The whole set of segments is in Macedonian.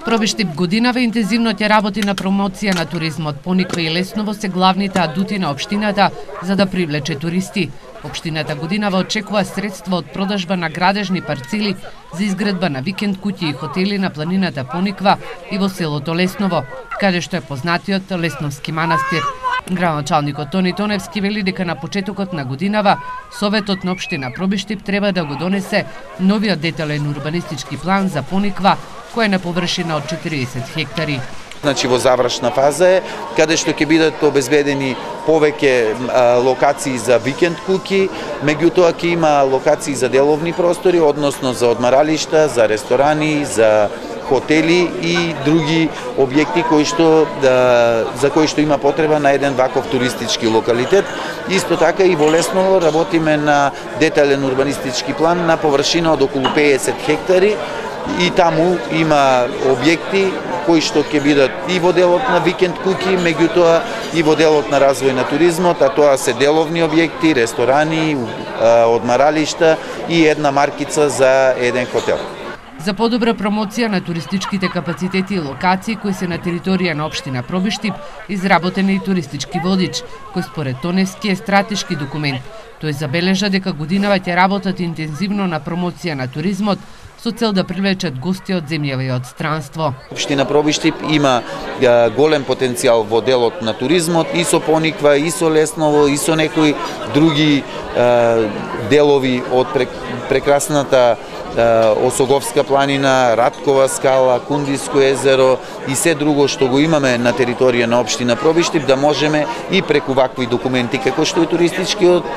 Пробиштип годинава интензивно ќе работи на промоција на туризмот. Пониква и Лесново се главните адути на општината за да привлече туристи. Општината годинава очекува средства од продажба на градежни парцели за изградба на викенд куќи и хотели на планината Пониква и во селото Лесново, каде што е познатиот Лесновски манастир. Градоначалникот Тони Тоневски вели дека на почетокот на годинава Советот на општина Пробиштип треба да го донесе новиот детален урбанистички план за Пониква, кој е на површина од 40 хектари. Значи во завршна фаза е, каде што ќе бидат обезбедени повеќе локации за викенд куќи, меѓутоа ќе има локации за деловни простори, односно за одмаралишта, за ресторани, за хотели и други објекти за кои што има потреба на еден ваков туристички локалитет. Исто така и во Лесново работиме на детален урбанистички план на површина од околу 50 хектари и таму има објекти кои што ќе бидат и во делот на викенд куќи, меѓутоа и во делот на развој на туризмот, а тоа се деловни објекти, ресторани, одмаралишта и една маркица за еден хотел. За подобра промоција на туристичките капацитети и локации кои се на територија на општина Пробиштип, изработен е и туристички водич, кој според Тоневски е стратешки документ. Тој забележа дека годинава ќе работат интензивно на промоција на туризмот, со цел да привлечат гости од земјава и од странство. Општина Пробиштип има голем потенцијал во делот на туризмот, и со Пониква, и со Лесново, и со некои други делови од прекрасната Осоговска планина, Раткова скала, Кундиско езеро и се друго што го имаме на територија на општина Пробиштип, да можеме и преку вакви документи како што е туристичкиот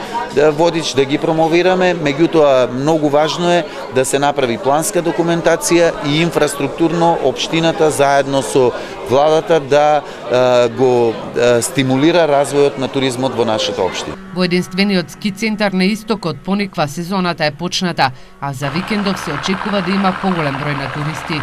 водич да ги промовираме. Меѓутоа многу важно е да се направи планска документација и инфраструктурно општината заедно со владата да го стимулира развојот на туризмот во нашата општина. Во единствениот ски центар на истокот Пониква сезоната е почната, а за викендов се очекува да има поголем број на туристи.